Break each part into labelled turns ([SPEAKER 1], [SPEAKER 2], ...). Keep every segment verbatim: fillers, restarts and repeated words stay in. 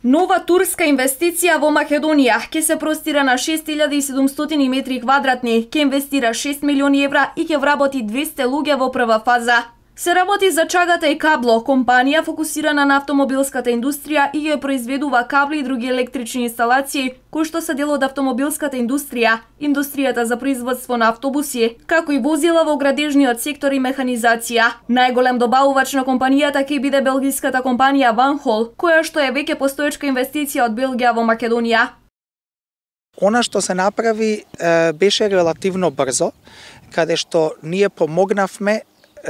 [SPEAKER 1] Нова турска инвестиција во Македонија ќе се простира на шест илјади и седумстотини метри квадратни, ќе инвестира шест милиони евра и ќе вработи двесте луѓе во прва фаза. Се работи за Чагата и Кабло, компанија фокусирана на автомобилската индустрија и ја произведува кабли и други електрични инсталации, кои што се дел од автомобилската индустрија, индустријата за производство на автобуси, како и возила во градежниот сектор и механизација. Најголем добавувач на компанијата ќе биде белгиската компанија Van Hool, која што е веќе постоечка инвестиција од Белгија во Македонија.
[SPEAKER 2] Она што се направи беше релативно брзо, каде што ние помогнавме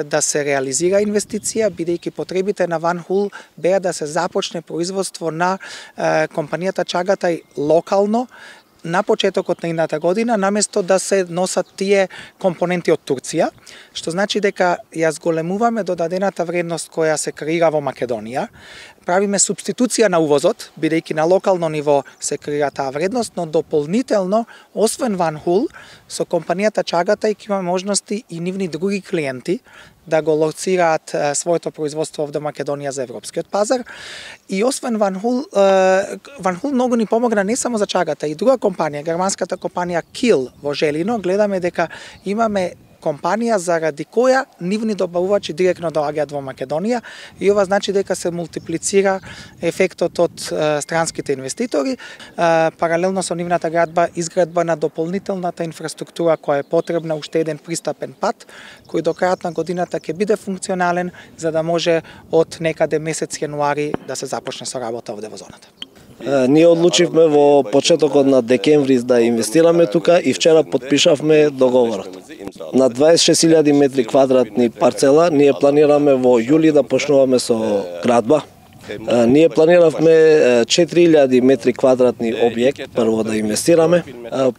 [SPEAKER 2] да се реализира инвестиција, бидејќи потребите на Van Hool беа да се започне производство на е, компанијата Чагата и локално на почетокот на идната година, наместо да се носат тие компоненти од Турција, што значи дека ја зголемуваме додадената вредност која се креира во Македонија. Правиме субституција на увозот, бидејќи на локално ниво се креира таа вредност, но дополнително, освен Van Hool, со компанијата Чагата и ќе има можности и нивни други клиенти да го лоцираат е, своето производство во Македонија за европскиот пазар. И освен Van Hool, е, Van Hool многу ни помогна не само за Чагата, и друга компанија, германската компанија Kiel во Желино, гледаме дека имаме компанија заради која нивни добавувачи директно доаѓаат во Македонија и ова значи дека се мултиплицира ефектот од е, странските инвеститори, е, паралелно со нивната градба, изградба на дополнителната инфраструктура која е потребна, уште еден пристапен пат, кој до крајот на годината ќе биде функционален за да може од некаде месец јануари да се започне со работа овде во зоната.
[SPEAKER 3] Ние одлучивме во почетокот на декември да инвестираме тука и вчера подпишавме договорот. На дваесет и шест илјади метри квадратни парцела ние планираме во јули да почнуваме со градба. Ние планиравме четири илјади метри квадратни објект прво да инвестираме.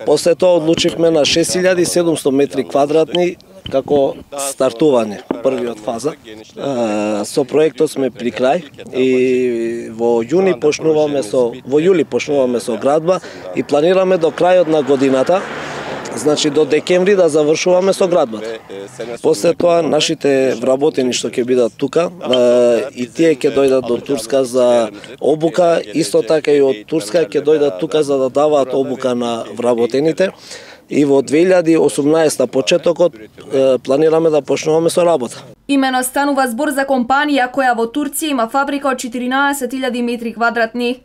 [SPEAKER 3] После тоа одлучивме на шест илјади и седумстотини метри квадратни како стартување, првиот фаза. Со проектот сме при крај и во јуни почнуваме со во јули почнуваме со градба и планираме до крајот на годината, значи до декември да завршуваме со градбата. После тоа нашите вработени што ќе бидат тука и тие ќе дојдат до Турска за обука, исто така и од Турска ќе дојдат тука за да даваат обука на вработените. И во две илјади и осумнаесета почетокот планираме да почнуваме со работа.
[SPEAKER 1] Имено станува збор за компанија која во Турција има фабрика од четиринаесет илјади метри квадратни.